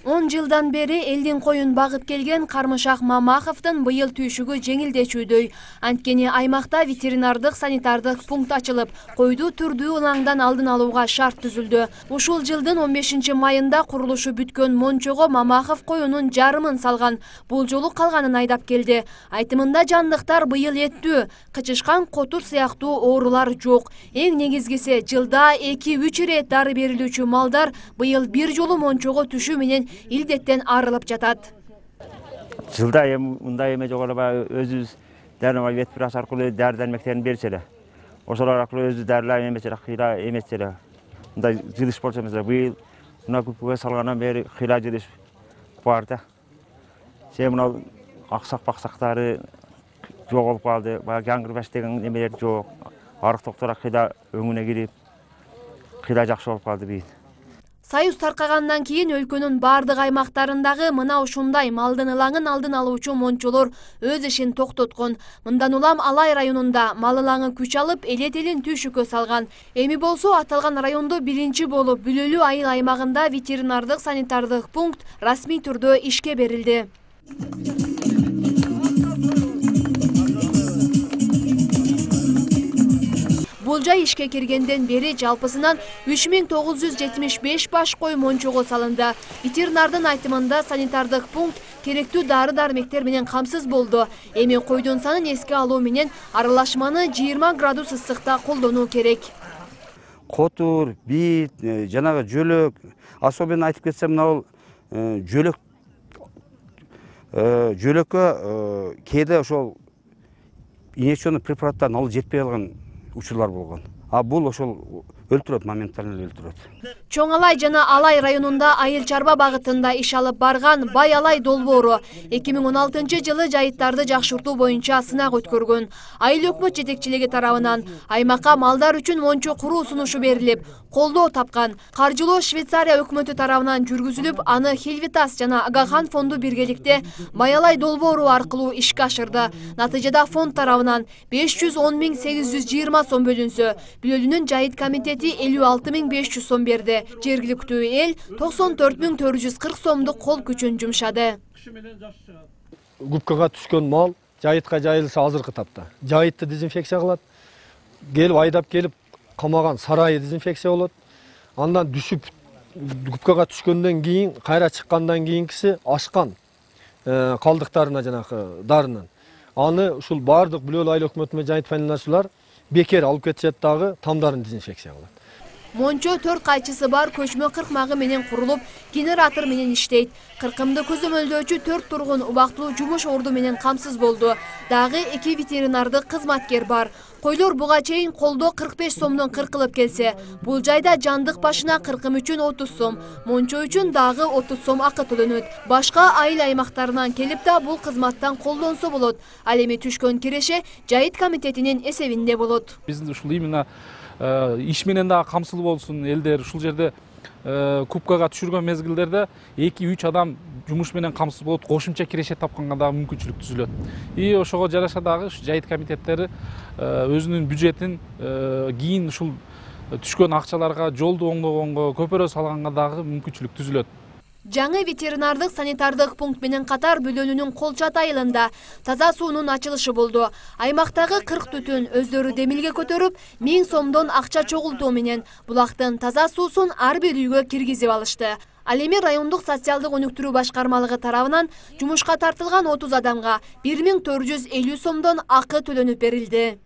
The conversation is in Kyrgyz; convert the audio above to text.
10 жылдан бери элдин коюн багып келген Кармышак Мамаховдун быйыл түйшүгү жеңилдечүүдөй. Анткени аймакта ветеринардык санитардык пункт ачылып, койду түрдүү ылаңдан алдын алууга шарт түзүлдү. Ушул жылдын 15 майында курулушу бүткөн Мончого Мамахов коюнун жарымын салган. Бул жолу калганын айдап келди. Айтымында жандыктар быйыл эттүү, кычышкан, котур сыяктуу оорулар жок. Эң негизгиси жылда 2-3 ирет дары берилүүчү малдар быйыл бир жолу Мончого түшүү менен илдеттен арылып жатат. Жылда мындай эме жок эле, өзүбүз дәрі ветпирас аркылуу дәрі-дәрмектерин берсе эле. Ошолор аркылуу өзү дәрилер эмес эле, кыйла эмес эле. Мындай жылыш болчу эмес эле. Быйыл мына күпкөгө салгандан бери кыйла жылыш бар да. Мына аксак-баксактары жоголуп калды. Баягы жаңгырбаш деген эмелер жок. Арык токтор кыйла өңүнө кирип, кыйла жакшы болуп калды быйыл. Союз таркагандан кийин өлкөнүн бардык аймактарындагы мына ушундай малдын ылаңын алдын алуучу мончолор өз ишин токтоткон. Мындан улам Алай районунда мал ылаңы күч алып, элет-элин түйшүккө салган. Эми болсо аталган райондо биринчи болуп Бүлөлүү айыл аймагында ветеринардык санитардык пункт расмий түрдө ишке берилди. Бул жай ишке киргенден бери жалпысынан 3975 баш кой Мончого салынды. Ветеринардын айтымында санитардык пункт керектүү дары-дармектер менен камсыз болду. Эми койдун санын эске алуу менен аралашманы 20 градус ысыкта колдонуу керек. Котур, бит, жанагы жөлөк, особенно айтып кетсем, мына жөлөккө кээде ошол инъекционный препараттарын алып жетпей калган учурлар болгон. А бул ошол өлтүрөт, моментально өлтүрөт. Чоң Алай жана Алай районунда айыл чарба багытында иш алып барган Бай Алай долбоору 2016 жылы жайыттарды жакшыртуу боюнча сынак өткөргөн. Айыл өкмөт жетекчилиги тарабынан аймакка малдар үчүн мончо куруу сунушу берилип, колдоо тапкан. Каржылоо Швейцария өкмөтү тарабынан жүргүзүлүп, аны Хелвитас жана Агахан фонду биргеликте Бай Алай долбоору аркылуу ишке ашырды. Натыйжада фонд тарабынан 510.820 сом бөлүнсө, Бүлөлүүнүн жайыт комитети 56.500 сом берди. Жергиликтүү эл 94.440 сомдук кол күчүн жумшады. Губкага түшкөн мал жайытка жайылса азыркы тапта. Жайытты дезинфекция кылат. Келип айдап келип камаган сарайы дезинфекция болот. Андан düşүп губкага түшкөндөн кийин, кайра чыккандан кийинкиси ашкан калдыктарына жанагы дарынын. Аны ушул бардык Бүлөлүү айыл өкмөтүнө жайыт пайдалануучулар бекер алып кетишет дагы тамдарын дезинфекция кылат. Мончо 4 кайчысы бар көчмө кыркмагы менен курулуп, генератор менен иштейт. Кыркымды көзөмөлдөөчү 4 тургун убактылуу жумуш орду менен камсыз болду. Дагы 2 ветеринардык кызматкер бар. Койлор буга чейин колдо 45 сомдон кыркылып келсе, бул жайда жандык башына кыркым үчүн 30 сом, мончо үчүн дагы 30 сом акы төлөнөт. Башка айыл аймактарынан келип да бул кызматтан колдонсо болот. Ал эми түшкөн киреше жайыт комитетинин эсебинде болот. Биз ушул именно иш менен дагы камсыз болсун элдер, ушул жерде кубкага түшүргөн мезгилдерде 2-3 адам жумуш менен камсыз болот, кошумча киреше тапканга дагы мүмкүнчүлүк түзүлөт. И ошого жараша дагы жайыт комитеттери өзүнүн бюджетин кийин ушул түшкөн акчаларга жолду оңдогонго, көпөрө салганга дагы мүмкүнчүлүк түзүлөт. Жаңы ветеринардык санитардык пункт менен катар Бүлөлүүнүн Колчат айылында таза суунун ачылышы болду. Аймактагы 40 түтүн өздөрү демилге көтөрүп, 1000 сомдон акча чогултуу менен булактын таза суусун ар бир үйгө киргизип алышты. Ал эми райондук социалдык өнүктүрүү башкармалыгы тарабынан жумушка тартылган 30 адамга 1450 сомдон акы төлөнүп берилди.